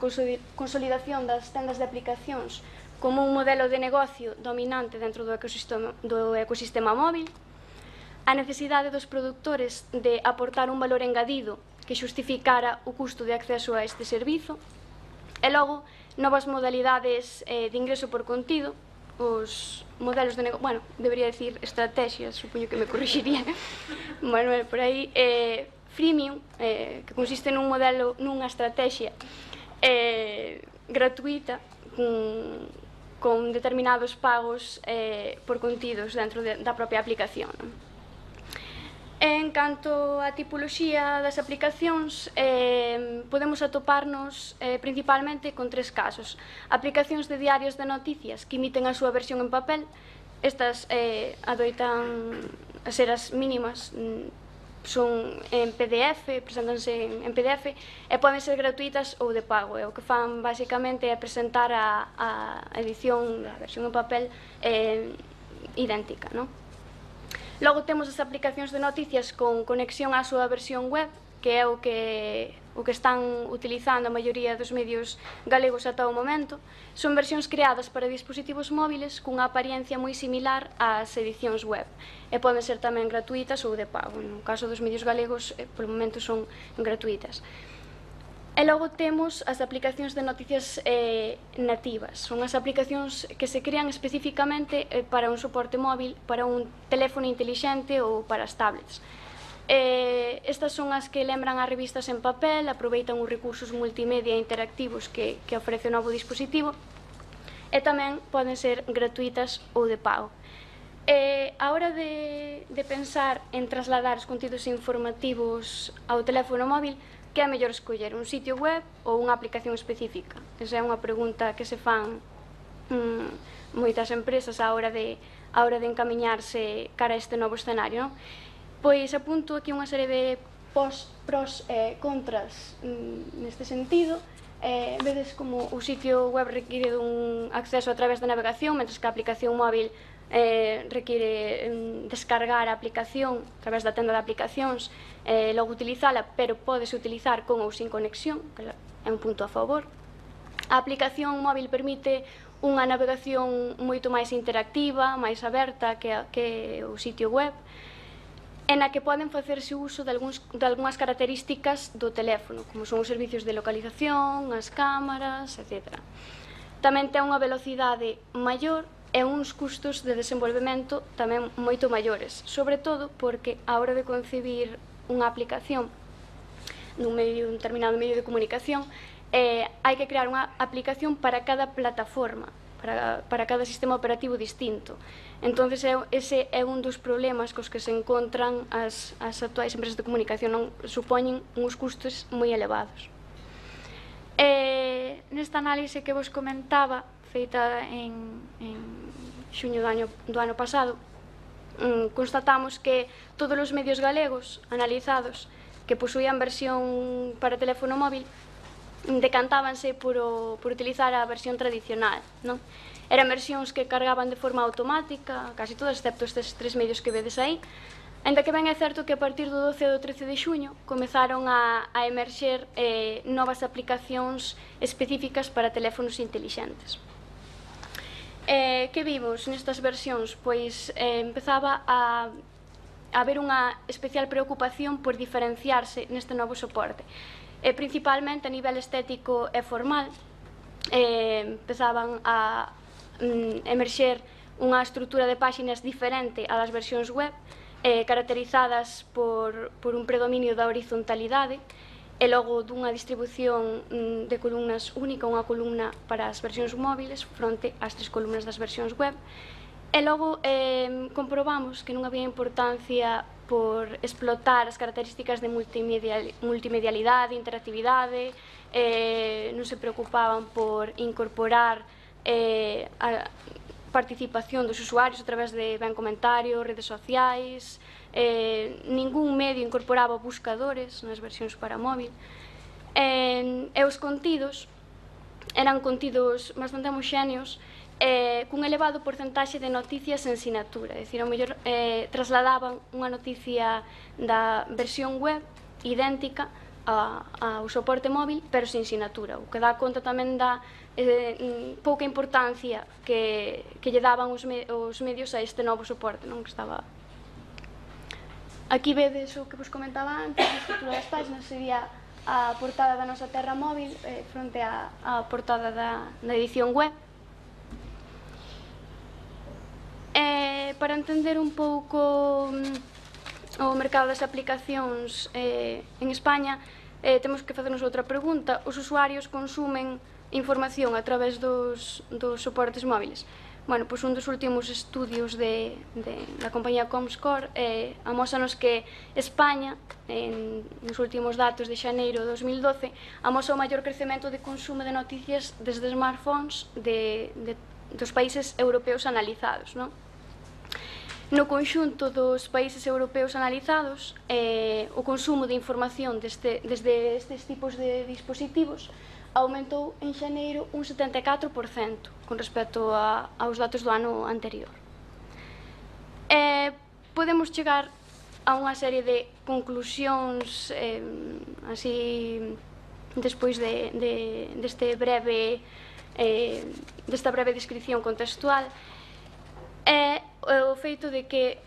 consolidación das tendas de aplicacións como un modelo de negocio dominante dentro do ecosistema móvil, a necesidade dos produtores de aportar un valor engadido que xustificara o custo de acceso a este servizo, e logo novas modalidades de ingreso por contido, os modelos de negocio, bueno, debería decir estrategias, supoño que me corrixiría Manuel por aí, freemium, que consiste nun modelo, nunha estrategia gratuita con determinados pagos por contidos dentro da propia aplicación. En canto á tipoloxía das aplicacións, podemos atoparnos principalmente con tres casos. Aplicacións de diarios de noticias que emiten a súa versión en papel. Estas adoitan a ser as mínimas, son en PDF, presentanse en PDF e poden ser gratuitas ou de pago. O que fan basicamente é presentar a edición da versión en papel idéntica, non? Logo temos as aplicacións de noticias con conexión á súa versión web, que é o que están utilizando a maioría dos medios galegos ata o momento. Son versións creadas para dispositivos móviles cunha apariencia moi similar ás edicións web e poden ser tamén gratuitas ou de pago. No caso dos medios galegos, polo momento son gratuitas. E logo temos as aplicacións de noticias nativas. Son as aplicacións que se crean especificamente para un soporte móvil, para un teléfono intelixente ou para as tablets. Estas son as que lembran as revistas en papel, aproveitan os recursos multimedia interactivos que ofrece o novo dispositivo e tamén poden ser gratuitas ou de pago. A hora de pensar en trasladar os contidos informativos ao teléfono móvil, que é mellor escoller un sitio web ou unha aplicación específica? Esa é unha pregunta que se fan moitas empresas á hora de encamiñarse cara a este novo escenario, non? Pois apunto aquí unha serie de pros e contras neste sentido. Vedes como o sitio web require dun acceso a través da navegación, mentre que a aplicación móvil require descargar a aplicación a través da tenda de aplicacións, logo utilizala, pero podes utilizar con ou sin conexión, que é un punto a favor. A aplicación móvil permite unha navegación moito máis interactiva, máis aberta que o sitio web, en a que poden facerse uso de algunhas características do teléfono, como son os servicios de localización, as cámaras, etc. Tamén ten unha velocidade maior e uns custos de desenvolvemento tamén moito maiores, sobre todo porque a hora de concebir unha aplicación nun determinado medio de comunicación, hai que crear unha aplicación para cada plataforma, para cada sistema operativo distinto. Entón, ese é un dos problemas cos que se encontran as actuais empresas de comunicación, non supoñen uns custos moi elevados. Nesta análise que vos comentaba, feita en xuño do ano pasado, constatamos que todos os medios galegos analizados que posuían versión para teléfono móvil decantábanse por utilizar a versión tradicional, non? Eran versións que cargaban de forma automática, casi todas, excepto estes tres medios que vedes aí, ainda que ben é certo que a partir do 12 e do 13 de xuño comezaron a emerxer novas aplicacións específicas para teléfonos intelixentes. Que vimos nestas versións? Pois empezaba a haber unha especial preocupación por diferenciarse neste novo soporte. Principalmente a nivel estético e formal, empezaban a emerxer unha estrutura de páxinas diferente a das versións web, caracterizadas por un predominio da horizontalidade e logo dunha distribución de columnas única, unha columna para as versións móviles fronte ás tres columnas das versións web. E logo comprobamos que non había importancia por explotar as características de multimedialidade, interactividade, non se preocupaban por incorporar participación dos usuarios a través de comentarios, redes sociais, ningún medio incorporaba buscadores nas versións para móvil, e os contidos eran contidos bastante homoxéneos, cun elevado porcentaxe de noticias en sinatura, é dicir, ao mellor trasladaban unha noticia da versión web idéntica ao soporte móvil, pero sin sinatura, o que dá conta tamén da pouca importancia que lle daban os medios a este novo soporte, non? Que estaba... Aquí vedes o que vos comentaba antes, a estrutura das páginas sería a portada da nosa terra móvil fronte á portada da edición web. Para entender un pouco o mercado das aplicacións en España, temos que facernos outra pregunta. Os usuarios consumen información a través dos soportes móviles? Bueno, pois un dos últimos estudios da compañía Comscore amósanos que España, nos últimos datos de xaneiro de 2012, amosa o maior crecemento de consumo de noticias desde smartphones dos países europeos analizados, non? No conxunto dos países europeos analizados, o consumo de información desde estes tipos de dispositivos aumentou en xaneiro un 74% con respecto aos datos do ano anterior. Podemos chegar a unha serie de conclusións así despois desta breve descripción contextual. É o feito de que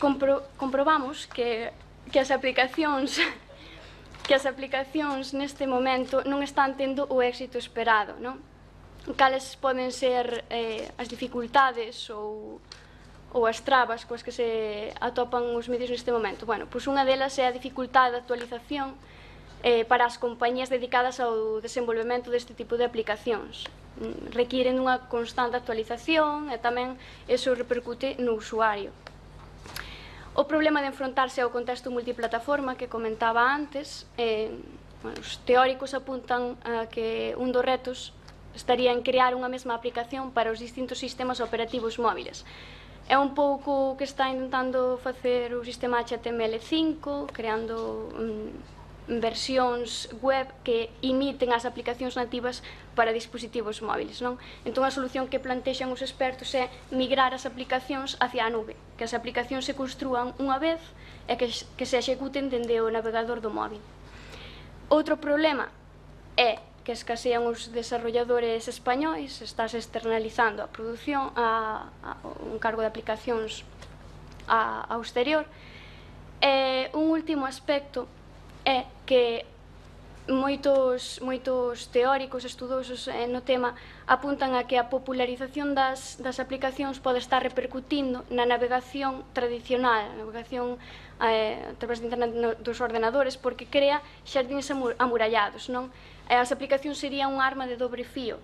comprobamos que as aplicacións neste momento non están tendo o éxito esperado, non? Cales poden ser as dificultades ou as trabas coas que se atopan os medios neste momento? Bueno, pois unha delas é a dificultade de actualización para as compañías dedicadas ao desenvolvemento deste tipo de aplicacións. Requiren unha constante actualización e tamén iso repercute no usuario. O problema de enfrontarse ao contexto multiplataforma que comentaba antes, os teóricos apuntan a que un dos retos estaría en crear unha mesma aplicación para os distintos sistemas operativos móviles. É un pouco o que está intentando facer o sistema HTML5, creando versións web que imiten as aplicacións nativas para dispositivos móviles, non? Entón a solución que plantexan os expertos é migrar as aplicacións hacia a nube, que as aplicacións se construan unha vez e que se executen dende o navegador do móvil. Outro problema é que escasean os desarrolladores españois, estás externalizando a produción un cargo de aplicacións ao exterior. Un último aspecto é que moitos teóricos estudosos no tema apuntan a que a popularización das aplicacións pode estar repercutindo na navegación tradicional, a navegación a través de internet dos ordenadores, porque crea xardíns amurallados, non? As aplicacións serían unha arma de dobre fío.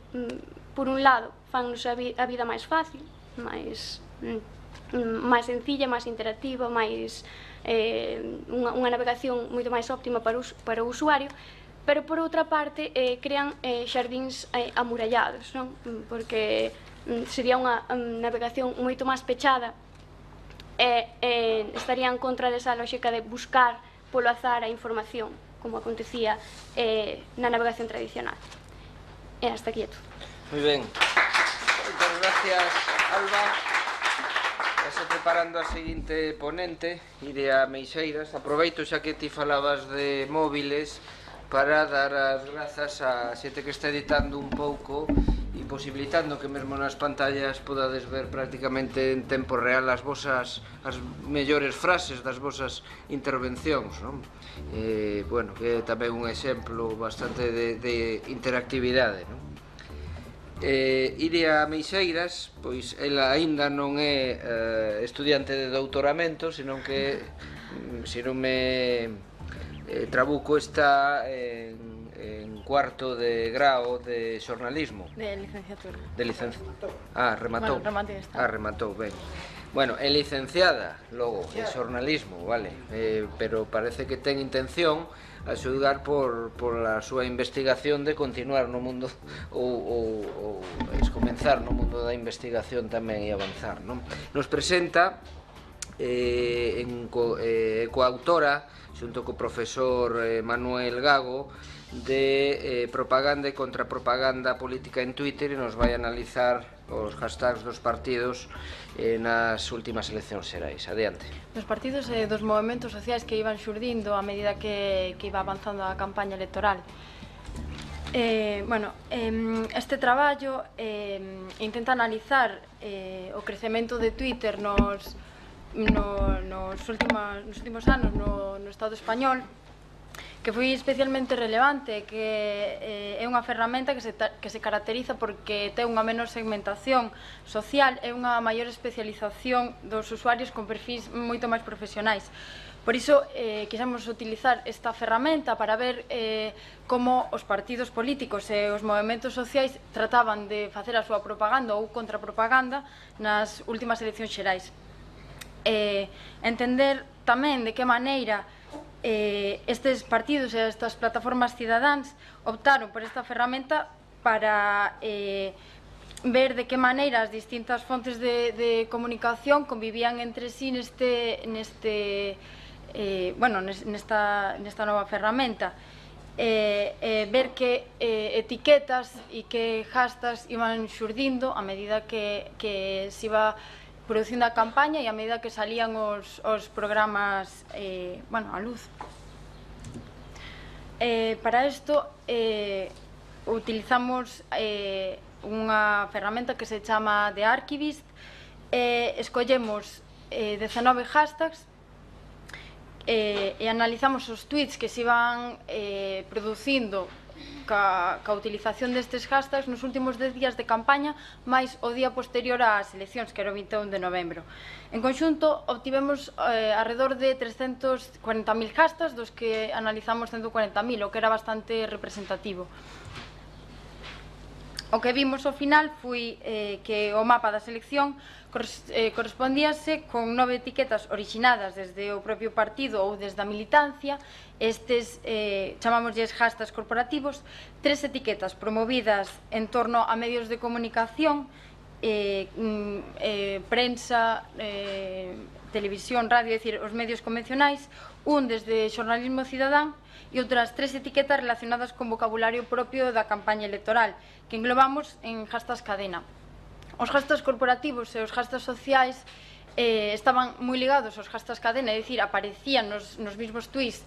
Por un lado, fannos a vida máis fácil, máis sencilla, máis interactiva, máis unha navegación moito máis óptima para o usuario, pero por outra parte crean xardíns amurallados, non? Porque sería unha navegación moito máis pechada e estaría en contra desa lógica de buscar polo azar a información, como acontecía na navegación tradicional. E hasta aquí é todo. Moi ben. Moitas gracias, Alba. Estás preparando a seguinte ponente, Iria Meixeiras. Aproveito xa que ti falabas de móviles para dar as grazas a xente que está editando un pouco e posibilitando que mesmo nas pantallas podades ver prácticamente en tempo real as mellores frases das vosas intervencións, non? Bueno, que é tamén un exemplo bastante de interactividade, non? Iria Meixeiras, pois ela aínda non é estudiante de doutoramento, senón que, se non me trabuco, está en cuarto de grao de xornalismo. De licenciatura. De licenciatura. Rematou. Bueno, rematei esta. Rematou, ben. Bueno, é licenciada, logo, en xornalismo, vale, pero parece que ten intención a xulgar por a súa investigación de continuar no mundo ou comenzar no mundo da investigación tamén e avanzar, non? Nos presenta coautora xunto co profesor Manuel Gago de propaganda e contrapropaganda política en Twitter e nos vai analizar os hashtags dos partidos nas últimas eleccións xerais. Adiante. Dos partidos e dos movementos sociais que iban xurdindo a medida que iba avanzando a campaña electoral. Este traballo intenta analizar o crecemento de Twitter nos últimos anos no Estado español, que foi especialmente relevante, que é unha ferramenta que se caracteriza porque ten unha menor segmentación social e unha maior especialización dos usuarios con perfis moito máis profesionais. Por iso, quixemos utilizar esta ferramenta para ver como os partidos políticos e os movementos sociais trataban de facer a súa propaganda ou contrapropaganda nas últimas eleccións xerais. Entender tamén de que maneira estes partidos e estas plataformas cidadáns optaron por esta ferramenta para ver de que maneira as distintas fontes de comunicación convivían entre sí nesta nova ferramenta. Ver que etiquetas e que hashtags iban xurdindo a medida que se iba producindo a campaña e a medida que salían os programas a luz. Para isto utilizamos unha ferramenta que se chama The Archivist. Escollemos 19 hashtags e analizamos os tweets que se iban producindo ca utilización destes hashtags nos últimos 10 días de campaña máis o día posterior ás eleccións, que era o 21 de novembro. En conxunto, obtivemos alrededor de 340.000 hashtags, dos que analizamos 140.000, o que era bastante representativo. O que vimos ao final foi que o mapa da selección correspondíase con 9 etiquetas originadas desde o propio partido ou desde a militancia. Estes chamámoslles hashtags corporativos, 3 etiquetas promovidas en torno a medios de comunicación, prensa, televisión, radio, é dicir, os medios convencionais, un desde xornalismo cidadán e outras 3 etiquetas relacionadas con vocabulario propio da campaña electoral, que englobamos en hashtags cadena. Os hashtags corporativos e os hashtags sociais estaban moi ligados aos hashtags cadena, é dicir, aparecían nos mismos tweets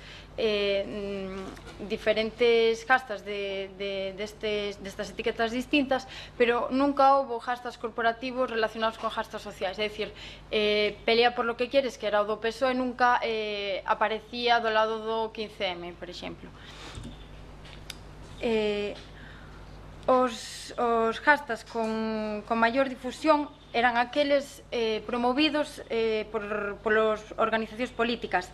diferentes hashtags destas etiquetas distintas, pero nunca houve hashtags corporativos relacionados con hashtags sociais, é dicir, pelea por lo que quieres, que era o do PSOE, nunca aparecía do lado do 15M, por exemplo. Os hashtags con maior difusión eran aqueles promovidos polas organizacións políticas,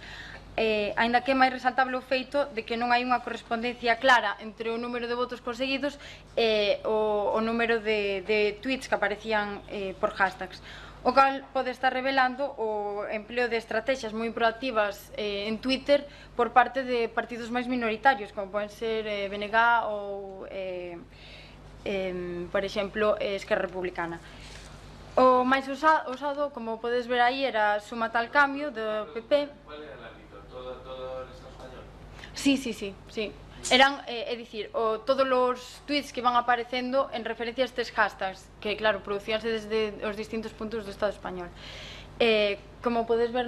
aínda que é máis resaltable o feito de que non hai unha correspondencia clara entre o número de votos conseguidos e o número de tweets que aparecían por hashtags, o cal pode estar revelando o empleo de estrategias moi proactivas en Twitter por parte de partidos máis minoritarios, como poden ser BNG ou, por exemplo, Esquerra Republicana. O máis usado, como podes ver aí, era Suma tal cambio, do PP. Cual era el ámbito? ¿Todo el Estado español? Sí. Eran, é dicir, todos os tweets que iban aparecendo en referencia a estes hashtags, que, claro, producíanse desde os distintos puntos do Estado español. Como podes ver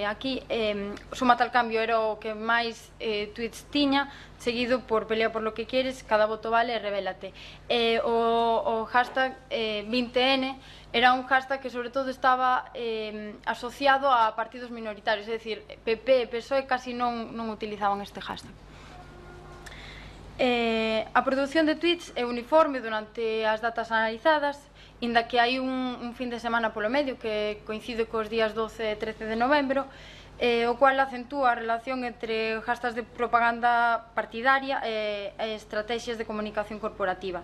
aquí, Suma tal cambio era o que máis tweets tiña, seguido por Pelea por lo que quieres, Cada voto vale e Revélate. O hashtag 20N era un hashtag que sobre todo estaba asociado a partidos minoritarios, é dicir, PP e PSOE casi non utilizaban este hashtag. A produción de tweets é uniforme durante as datas analizadas, inda que hai un fin de semana polo medio que coincide cos días 12 e 13 de novembro, o cual acentúa a relación entre hashtags de propaganda partidaria e estrategias de comunicación corporativa.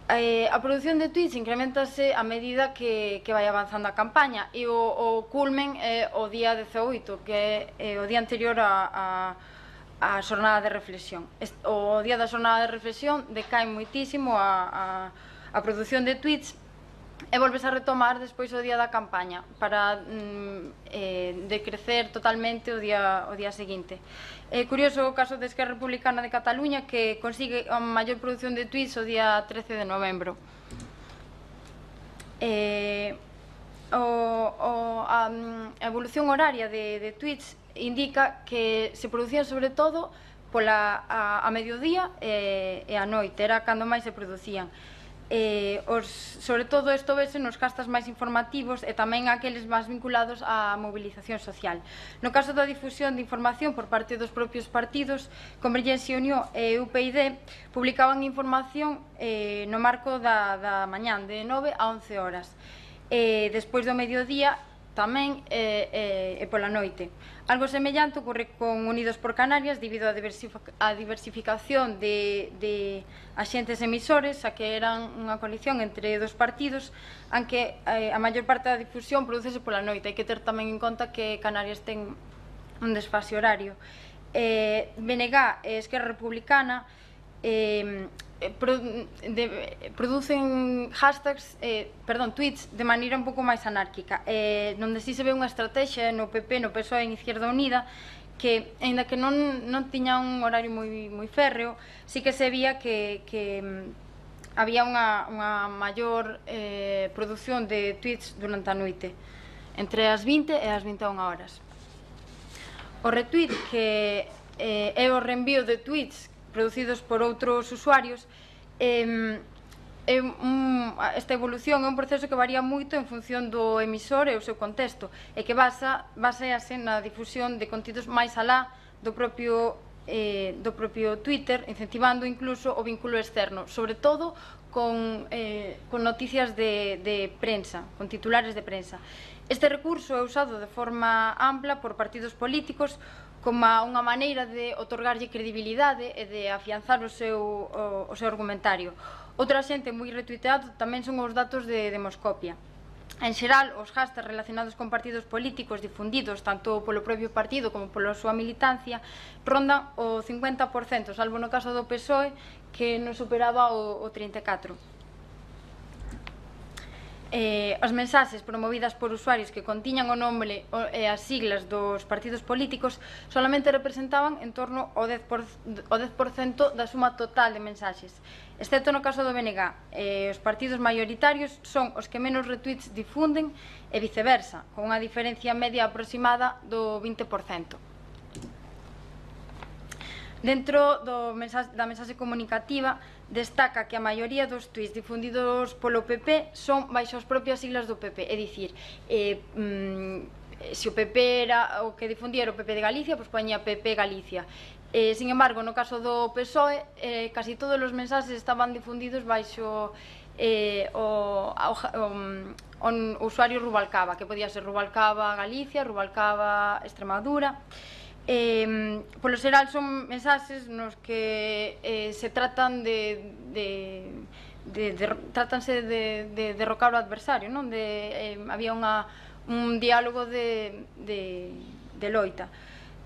A produción de tweets incrementase a medida que vai avanzando a campaña e o culmen é o día 18, que é o día anterior a xornada de reflexión. O día da xornada de reflexión decae moitísimo a produción de tweets e volves a retomar despois o día da campaña para decrecer totalmente o día seguinte. É curioso o caso de Esquerra Republicana de Cataluña, que consigue a maior produción de tweets o día 13 de novembro. A evolución horaria de tweets indica que se producían sobre todo a mediodía e a noite, era cando máis se producían. Sobre todo isto vese nos castas máis informativos e tamén aqueles máis vinculados á mobilización social. No caso da difusión de información por parte dos propios partidos, Convergencia e Unión e UPyD publicaban información no marco da mañán de 9 a 11 horas. Despois do mediodía tamén e pola noite. Algo semellante ocorre con Unidos por Canarias debido á diversificación de axentes emisores, a que eran unha coalición entre dos partidos, aunque a maior parte da difusión producese pola noite. Hai que ter tamén en conta que Canarias ten un desfase horario. BNG e Esquerra Republicana producen tweets de maneira un pouco máis anárquica, onde si se ve unha estrategia no PP, no PSOE e en Izquierda Unida, que, aínda que non tiña un horario moi férreo, sí que se vía que había unha maior produción de tweets durante a noite, entre as 20 e as 21 horas. O retweet, que é o reenvío de tweets producidos por outros usuarios, esta evolución é un proceso que varía moito en función do emisor e o seu contexto, e que basease na difusión de contidos máis alá do propio Twitter, incentivando incluso o vínculo externo, sobre todo con noticias de prensa, con titulares de prensa. Este recurso é usado de forma ampla por partidos políticos como unha maneira de otorgarlle credibilidade e de afianzar o seu argumentario. Outra xente moi retuiteado tamén son os datos de Demoscopia. En xeral, os hashtags relacionados con partidos políticos difundidos tanto polo propio partido como pola súa militancia rondan o 50%, salvo no caso do PSOE, que non superaba o 34%. As mensaxes promovidas por usuarios que contiñan o nome e as siglas dos partidos políticos solamente representaban en torno ao 10% da suma total de mensaxes, excepto no caso do BNG. Os partidos maioritarios son os que menos retweets difunden e viceversa, con unha diferencia media aproximada do 20%. Dentro da mensaxe comunicativa, destaca que a maioría dos tweets difundidos polo PP son baixo as propias siglas do PP, é dicir, se o PP era o que difundía o PP de Galicia, pois poñía PP Galicia. Sin embargo, no caso do PSOE, casi todos os mensaxes estaban difundidos baixo o usuario Rubalcaba, que podía ser Rubalcaba Galicia, Rubalcaba Extremadura. Polo xeral son mensaxes nos que se tratan tratanse de derrocar o adversario, onde había un diálogo de loita.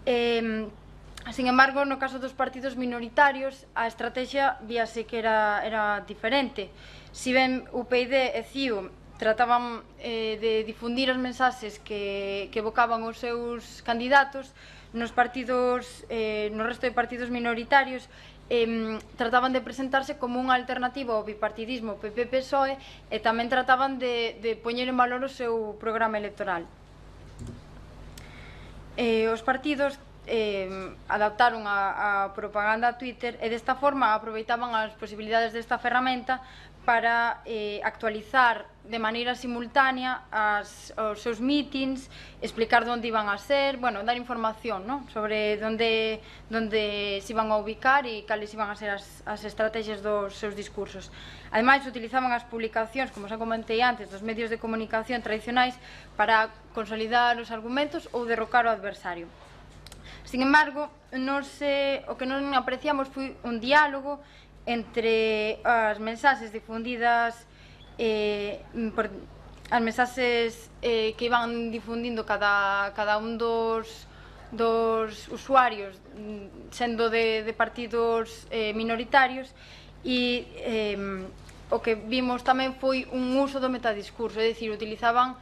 Sin embargo, no caso dos partidos minoritarios, a estrategia víase que era diferente. Si ben UPyD e CIU trataban de difundir as mensaxes que evocaban os seus candidatos, no resto de partidos minoritarios trataban de presentarse como unha alternativa ao bipartidismo PP-PSOE e tamén trataban de poñer en valor o seu programa electoral. Os partidos adaptaron a propaganda a Twitter e desta forma aproveitaban as posibilidades desta ferramenta para actualizar de maneira simultánea os seus meetings, explicar onde iban a ser, dar información sobre onde se iban a ubicar e cales iban a ser as estrategias dos seus discursos. Ademais, utilizaban as publicacións, como xa comentei antes, dos medios de comunicación tradicionais para consolidar os argumentos ou derrocar o adversario. Sin embargo, o que non apreciamos foi un diálogo entre as mensaxes difundidas as mensaxes que iban difundindo cada un dos usuarios sendo de partidos minoritarios e o que vimos tamén foi un uso do metadiscurso, é dicir, utilizaban